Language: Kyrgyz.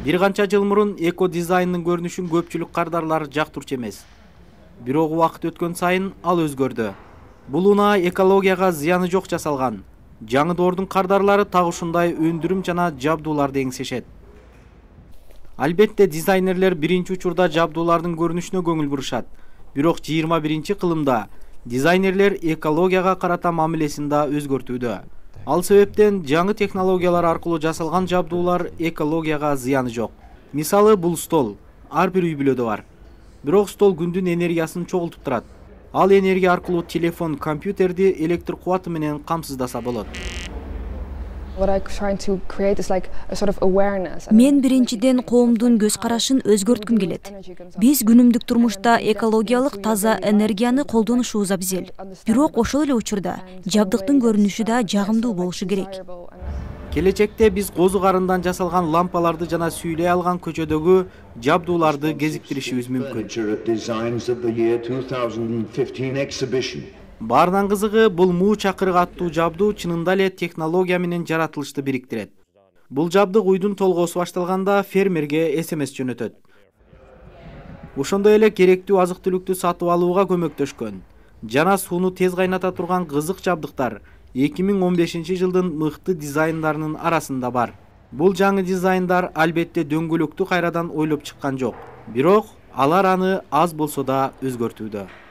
Бир канча жыл мурун эко дизайндын көрүнүшүн көпчүлүк кардарлар жактырчу эмес. Бирок убакыт өткөн сайын ал өзгөрдү. Бул унаа экологияга зыяны жок жасалган. Жаңы доордун кардарлары так ушундай өндүрүм жана жабдууларды эңсешет. Албетте дизайнерлер биринчи учурда жабдуулардын көрүнүшүнө көңүл бурушат. Бирок 21-кылымда дизайнерлер экологияга карата мамилесин да өзгөртүүдө. Ал себептен жаңы технологиялар аркылуу жасалган жабдуулар экологияга зыяны жок. Мисалы, бул стол ар бир үй-бүлөдө бар. Бирок стол күндүн энергиясын чогултуп турат. Ал энергия аркылуу телефон, компьютерди электр кубаты менен камсыздаса болот. Мен биринчиден коомдун көз карашын өзгөрткүм келет. Биз күнүмдүк турмушта экологиялык таза энергияны колдонушубуз абзел. Бирок ошол эле учурда жабдыктын көрүнүшү да жагымдуу болушу керек. Келечекте биз козу карындан жасалган лампаларды жана сүйлөй алган көчөдөгү жабдууларды кезиктиришибиз мүмкүн. Баарынан кызыгы, бул муу чакырык аттуу жабдуу чынында эле технология менен жаратылышты бириктирет. Бул жабдык уйдун толгоосу башталганда фермерге СМС жөнөтөт. Ошондой эле керектүү азык-түлүктү сатып алууга көмөктөшкөн жана сууну тез кайната турган кызык жабдыктар 2015-жылдын мыкты дизайндарынын арасында бар. Бул жаңы дизайндар албетте дөңгөлөктү кайрадан ойлоп чыккан жок, бирок алар аны аз болсо да өзгөртүүдө.